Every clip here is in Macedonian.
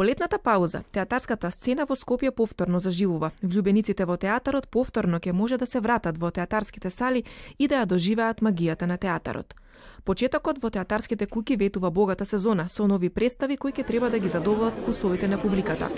По летната пауза, театарската сцена во Скопје повторно заживува. Влюбениците во театарот повторно ќе може да се вратат во театарските сали и да ја доживеат магијата на театарот. Почетокот во театарските куќи ветува богата сезона со нови представи кои ќе треба да ги задоволат вкусовите на публиката.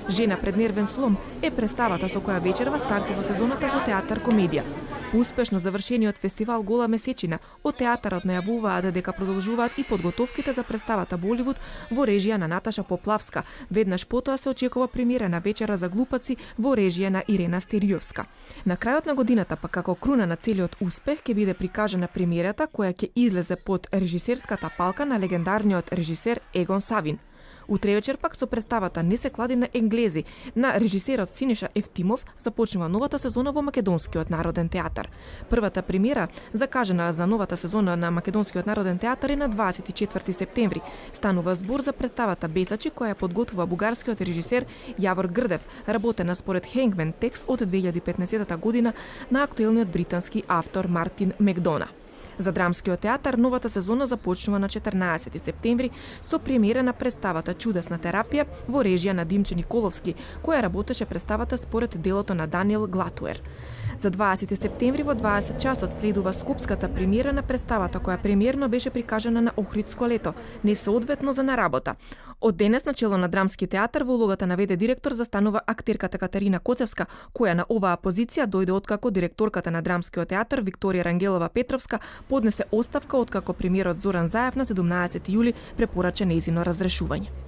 Жена пред нервен слом е представата со која вечерва стартува сезоната во театар комедија. По успешно завршениот фестивал Гола месечина, од театарот најавуваат дека продолжуваат и подготовките за представата Боливуд во режија на Наташа Поплавска. Веднаш потоа се очекува премиера на Вечера за глупаци во режија на Ирена Стериовска. На крајот на годината, па како круна на целиот успех, ќе биде прикажана премиерата која ќе излезе под режисерската палка на легендарниот режисер Егон Савин. Утре вечер пак со представата Не се клади на енглези на режисерот Синиша Ефтимов започнува новата сезона во Македонскиот народен театар. Првата премиера, закажана за новата сезона на Македонскиот народен театар е на 24 септември. Станува збор за представата Бесачи која ја подготвува бугарскиот режисер Јавор Грдев, работена според Хенгмен текст од 2015 година на актуелниот британски автор Мартин Мекдона. За драмскиот театар новата сезона започнува на 14 септември со премиера на представата Чудесна терапија во режија на Димче Николовски, која работеше представата според делото на Даниел Глатуер. За 20 септември во 20 часот следува скопската премиера на представата која премиерно беше прикажана на Охридско лето, несоодветно за на работа. Од денес на чело на драмски театар во улогата на ВД директор застанува актерката Катарина Коцевска, која на оваа позиција дојде откако директорката на драмскиот театар Викторија Рангелова Петровска поднесе оставка откако премиерот Зоран Заев на 17 јули препорача нејзино разрешување.